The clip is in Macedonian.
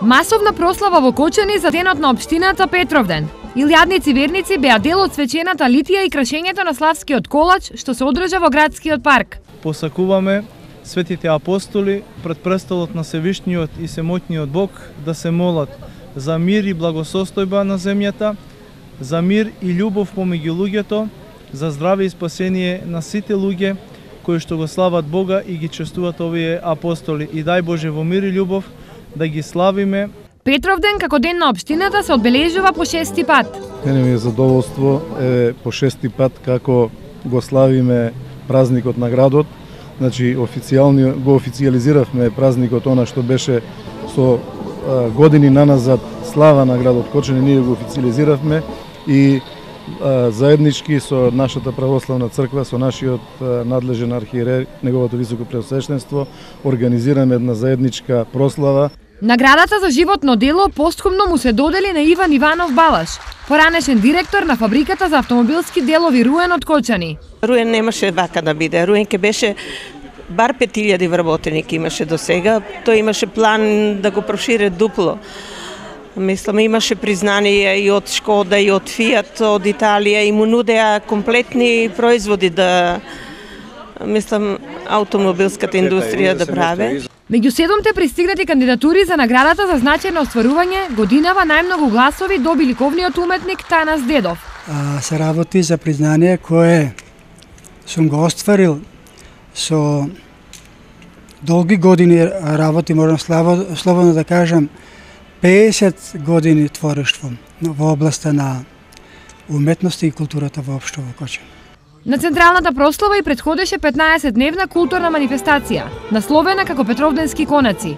Масовна прослава во Кочани за денот на општината Петровден. Илјадници верници беа дел од свечената литија и крашењето на славскиот колач што се одржа во градскиот парк. Посакуваме светите апостоли пред престолот на Севишниот и Семоќниот Бог да се молат за мир и благосостојба на земјата, за мир и љубов помеѓу луѓето, за здраве и спасение на сите луѓе кои што го слават Бога и ги честуваат овие апостоли. И дај Боже во мир и љубов да ги славиме. Петровден како ден на општината се одбележува по 6-ти пат. Мене ми е задоволство по 6-ти пат како го славиме празникот на градот. Значи официјално го официјализиравме празникот, она што беше со години наназад слава на градот Кочани, ние го официјализиравме и заеднички со нашата православна црква, со нашиот надлежен архиерей, неговото високо преосвещенство, организираме една заедничка прослава. Наградата за животно дело постхумно му се додели на Иван Иванов Балаш, поранешен директор на фабриката за автомобилски делови Руен од Кочани. Руен немаше вака да биде. Руен ке беше бар 5000 вработеник имаше до сега. Тој имаше план да го прошире дупло. Мислам, имаше признание и од Шкода, и од Фиат, од Италија, и му нудеа комплетни производи да, мислам, автомобилската индустрија да праве. Меѓу 7-те пристигнати кандидатури за наградата за значајно остварување, годинава најмногу гласови доби ликовниот уметник Танас Дедов. Се работи за признание кое сум го остварил со долги години работи, можам слободно да кажам, 50 години творештво во областа на уметноста и културата воопшто во Кочани. На централната прослава и претходеше 15-дневна културна манифестација, насловена како Петровденски конаци.